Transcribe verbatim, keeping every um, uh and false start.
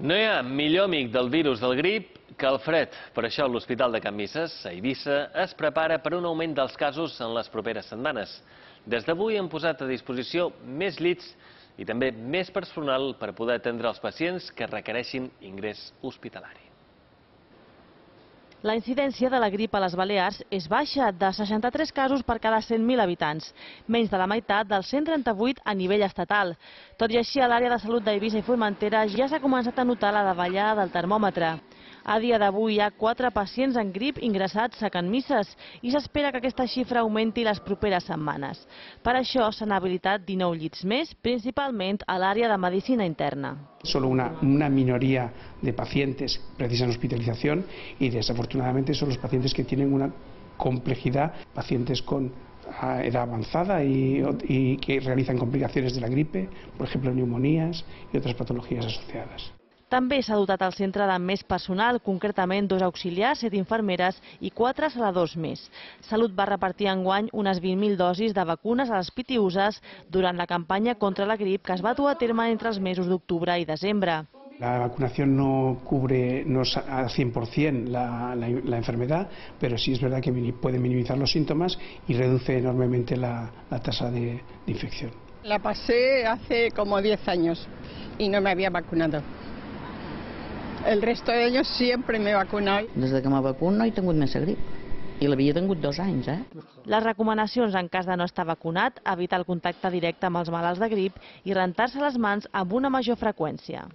No hi ha millor amic del virus del grip que el fred. Per això l'Hospital de Can Misses, a Eivissa, es prepara per un augment dels casos en les properes setmanes. Des d'avui hem posat a disposició més llits i també més personal per poder atendre els pacients que requereixin ingrés hospitalari. La incidència de la grip a les Balears és baixa, de seixanta-tres casos per cada cent mil habitants, menys de la meitat dels cent trenta-vuit a nivell estatal. Tot i així, a l'àrea de salut d'Eivissa i Formentera ja s'ha començat a notar la davallada del termòmetre. A dia d'avui hi ha quatre pacients en grip ingressats a Can Misses i s'espera que aquesta xifra augmenti les properes setmanes. Per això s'han habilitat dinou llits més, principalment a l'àrea de medicina interna. Solo una, una minoría de pacientes precisan hospitalización y desafortunadamente son los pacientes que tienen una complejidad, pacientes con edad avanzada y, y que realizan complicaciones de la gripe, por ejemplo neumonías y otras patologías asociadas. També s'ha dotat el centre de més personal, concretament dos auxiliars, set infermeres i quatre saladors més. Salut va repartir enguany unes vint mil dosis de vacunes a les pitiüses durant la campanya contra la grip que es va dur a terme entre els mesos d'octubre i desembre. La vacunación no cubre no al cien por cien la, la, la enfermedad, pero sí es verdad que puede minimizar los síntomas y reduce enormemente la, la tasa de, de infección. La pasé hace como diez años y no me había vacunado. El resto de ellos siempre me he vacunado. Des que me vacuno no he tingut més grip. I l'havia tingut dos anys, eh? Les recomanacions en cas de no estar vacunat, evitar el contacte directe amb els malalts de grip i rentar-se les mans amb una major freqüència.